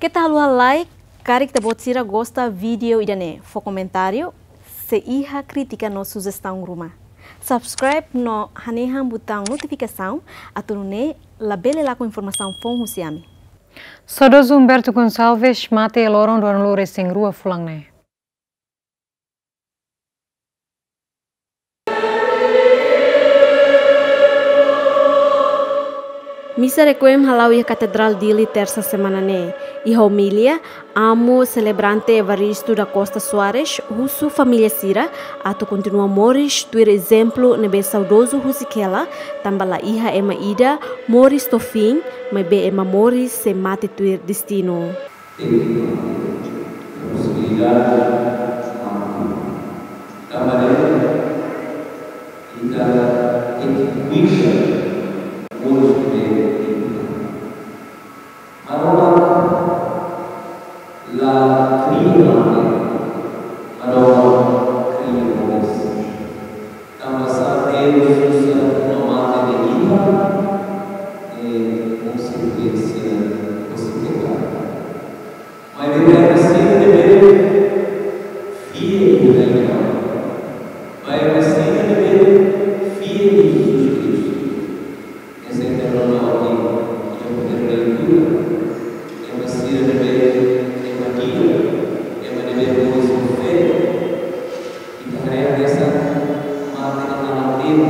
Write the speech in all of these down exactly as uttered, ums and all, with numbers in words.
Keta haluha like, karik ita-boot sira gosta vídeo ida-ne'e, fó komentáriu, sei iha krítika no sujestaun ruma. Subscribe no hanehan butaun notifikasaun, atu nune'e labele lakon informasaun foun husi ami. Saudozu Humberto Gonçalves mate loron ruanulu-resin-rua fulan ne'e. Misa requiem hala'o iha Katedrál Dili, tersa semana ne'e. Iha omilia, amu selebrante Evaristo da Costa Soares husu família sira atu kontinua moris tuir ezemplu ne'ebé saudozu husik hela, tanba la iha ema ida moris to'o fim, maibé ema moris sei mate tuir destinu. Posibilidade de mate. Tanba ne'e, ita tenke kuida moris ne'e. Maromak la kria mate, Maromak kria moris. Tanba sá Deus uza no mate de ita, eh, konsekuénsia husi pekadu. Maibé ba ema sira ne'ebé fiel iha Aman, ba ema sira ne'ebé fiel iha Jesus Kristu. Ese terreno aqui, iha primeira leitura, ema sira ne'ebé, ema di'ak, ema ne'ebé moris ho fé, ita haree hanesan mate ne'e la temi,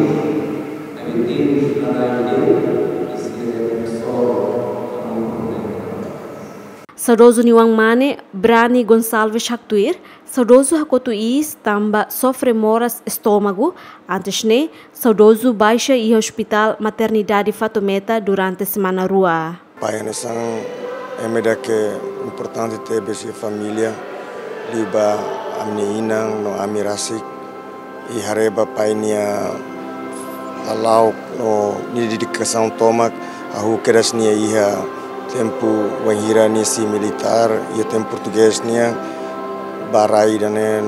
maibé temi ita haree de'it, i sira ne'ebé sofre, amor problema. Saudozu nia oan-mane, Brani Gonçalves haktuir, saudozu hakotu iis tanba sofre moras estómagu, antes ne'e, saudozu baixa iha Hospitál Maternidade Fatumeta durante semana rua. Pai hanesan ema ida ke importante tebes iha família, liuba ami-nia inan no ami rasik, i haree ba pai nia hala'o no nia dedikasaun tomak, hahú kedas nia iha tempu wainhira nia sei militár, iha tempu portugés nian, ba rai ida-ne'e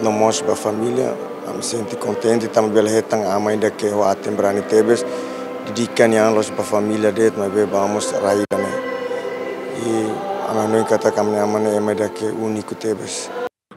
no mós ba família. Ami sente kontente tanba bele hetan aman ida ke ho aten brani tebes, dedika nia an la'ós ba família de'it, maibé ba mós rai ida-ne'e. I ami hanoin katak ami-nia aman ne'e ema ida ke úniku tebes.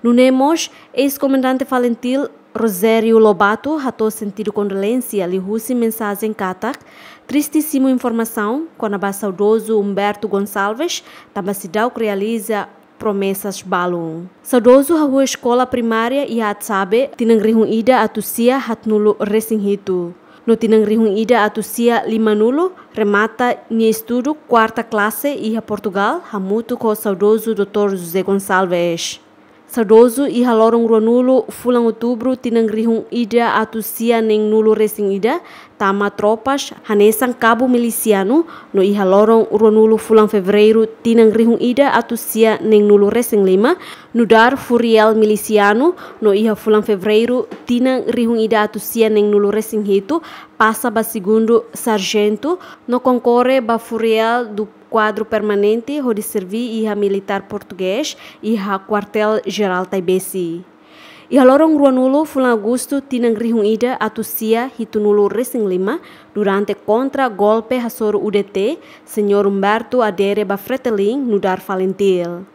Nune'e mós, eis-komandante FALINTIL, Rogério Lobato, hato'o sentidu kondolénsia liuhusi mensajen katak, tristísimu informasaun kona-ba saudozu Humberto Gonçalves, tanba seidauk realiza promesas balun. Saudozu hahú eskola primária iha Atsabe, tinan rihun ida atus sia haatnulu-resin-hitu. No tinan rihun ida atus sia limanulu, remata nia estudu kuarta klase iha Portugal, hamutuk ho saudozu doutór José Gonçalves. Saudozu iha loron ruanulu fulan Outubru tinan rihun ida atus sia neenulu-resin-ida, tama tropas hanesan kabu milisianu, no iha loron ruanulu fulan Fevereiru tinan rihun ida atus sia neenulu-resin-lima, nu'udar furiel milisianu, no iha fulan Fevereiru tinan rihun ida atus sia neenulu-resin-hitu, pasa ba segundu sarjentu, no konkorre ba furiel do kuadru permanente hodi serví iha militár portugés iha Kuartél Jerál Taibesi. Iha loron ruanulu fulan Agostu tinan rihun ida atus sia hitunulu-resin-lima, durante kontra-golpe hasoru U D T, Señór Humberto adere ba Fretilin nu'udar FALINTIL.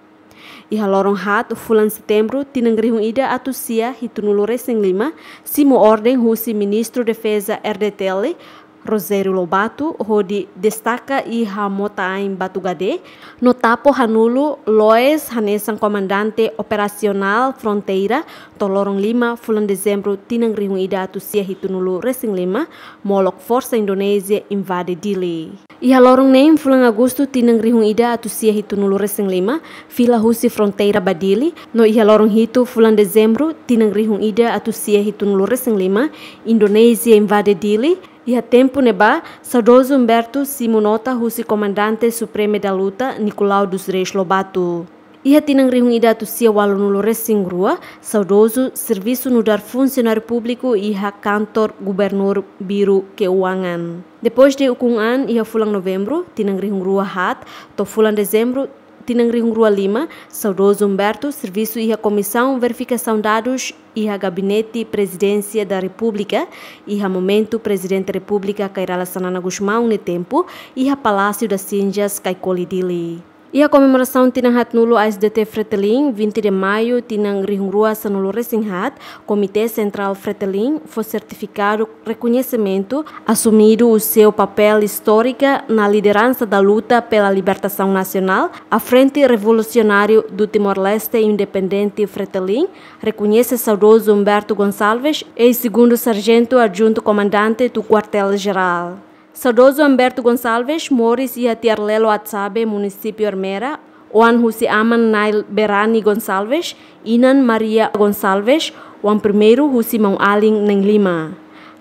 Iha loron haat fulan Setembru tinan rihun ida atus sia hitunulu-resin-lima, simu orden husi Ministru Defeza R D T L, Rogério Lobato, hodi destaka iha mota-ain Batu Gade, no tapo hanulu Loes hanesan komandante operasionál fronteira, to'o loron lima fulan Dezembru tinan rihun ida atus sia hitunulu-resin-lima, molok forsa Indonézia invade Dili. Iha loron neen fulan Agostu tinan rihun ida atus sia hitunulu-resin-lima, fila husi fronteira ba Dili, no iha loron hitu fulan Dezembru tinan rihun ida atus sia hitunulu-resin-lima, Indonézia invade Dili. Iha tempu ne'ebá, saudozu Humberto simu nota husi Komandante Supremu da Luta, Nicolau dos Reis Lobato. Iha tinan rihun ida atus sia ualunulu-resin-rua, saudozu servisu nu'udar funsionáriu públiku iha kantor gubernur, biru keuangan. Depois de ukun an, iha fulan Novembru tinan rihun rua haat to'o fulan Dezembru tinan rihun rua lima, saudozu Humberto servisu iha Komisaun Verifikasaun Dadus iha Gabinete Prezidénsia da Repúblika, iha momentu Prezidente Repúblika Kay Rala Xanana Gusmão nia tempu, iha Palácio das Cinzas, Caicoli, Dili. Iha komemorasaun tinan haat nulu A S D T Fretilin, vinte de maio, tinan rihun rua sanulu resin haat, Komité Sentrál Fretilin fó sertifikadu rekoñesimentu, asumidu o seu papel istóriku na lideransa da luta pela libertação nacional, a Frente Revolucionária do Timor-Leste Independente Fretilin rekoñese saudozu Humberto Gonçalves, eis-segundu sarjentu adjuntu komandante do Quartel-General. Saudozu Humberto Gonçalves moris iha Tiarlelo Atsabe, munisípiu Ermera, oan husi aman Nail Berani Gonçalves, inan Maria Gonçalves, oan primeiru husi maun-alin na'in-lima.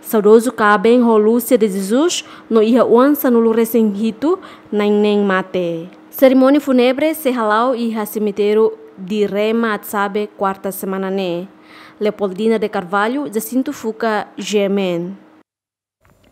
Saudozu kaben ho Lúcia de Jesus no iha oan sanulu resin hitu na'in-neen mate. Serimónia fúnebre sei hala'o iha semitériu de Rema Atsabe, kuarta semana ne'e. Leopoldina de Carvalho, Jacinto Fuca, G M N.